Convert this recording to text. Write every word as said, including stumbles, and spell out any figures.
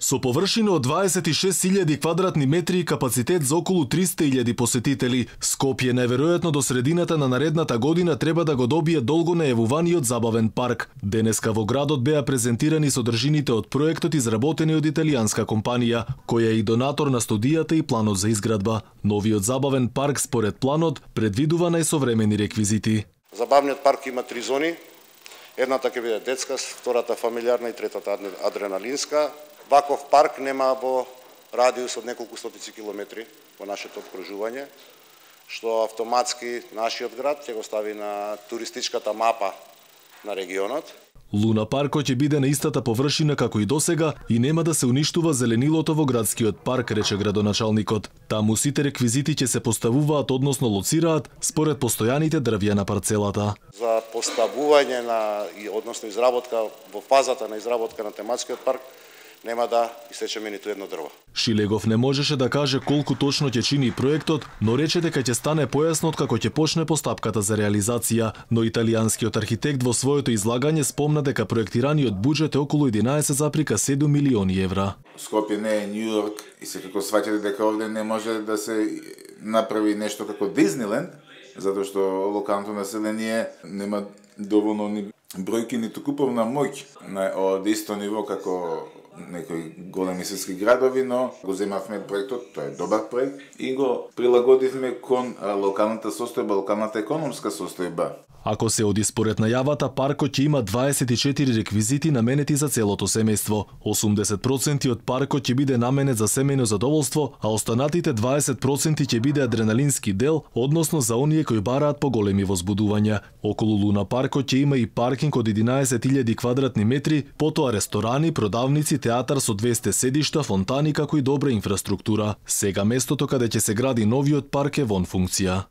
Со површина од дваесет и шест илјади квадратни метри и капацитет за околу триста илјади посетители, Скопје најверојатно до средината на наредната година треба да го добие долго најавуваниот забавен парк. Денеска во градот беа презентирани содржините од проектот изработени од италијанска компанија, која е и донатор на студијата и планот за изградба. Новиот забавен парк според планот предвидува најсовремени реквизити. Забавниот парк има три зони. Едната ќе биде детска, втората фамилиарна и третата адреналинска. Ваков парк нема во радиус од неколку стотици километри во нашето обкружување, што автоматски нашиот град ќе го стави на туристичката мапа на регионот. Луна паркот ќе биде на истата површина како и досега и нема да се уништува зеленилото во градскиот парк, рече градоначалникот. Таму сите реквизити ќе се поставуваат, односно лоцираат, според постојаните дрвја на парцелата. За поставување на, односно изработка, во фазата на изработка на тематскиот парк, нема да исечеме ниту едно дрво. Шилегов не можеше да каже колку точно ќе чини проектот, но рече дека ќе стане појасно како ќе почне постапката за реализација, но италијанскиот архитект во своето излагање спомна дека проектираниот буџет е околу единаесет зарез и седум милиони евра. Скопје не е Њу Йорк и секако сваќате дека овде не може да се направи нешто како Дизниленд, затоа што локалното население нема доволно ни бројки ниту куповна моќ на од исто ниво како некои големи светски градови, но го земавме проектот, тоа е добар проект и го прилагодивме кон локалната состојба, локалната економска состојба. Ако се оди според најавата, паркот ќе има дваесет и четири реквизити наменети за целото семејство. осумдесет проценти од паркот ќе биде наменет за семејно задоволство, а останатите дваесет проценти ќе биде адреналински дел, односно за оние кои бараат поголеми возбудувања. Околу Луна паркот ќе има и паркинг од единаесет илјади квадратни метри, потоа ресторани, продавници, театар со двесте седишта, фонтани како и добра инфраструктура. Сега местото каде ќе се гради новиот парк е вон функција.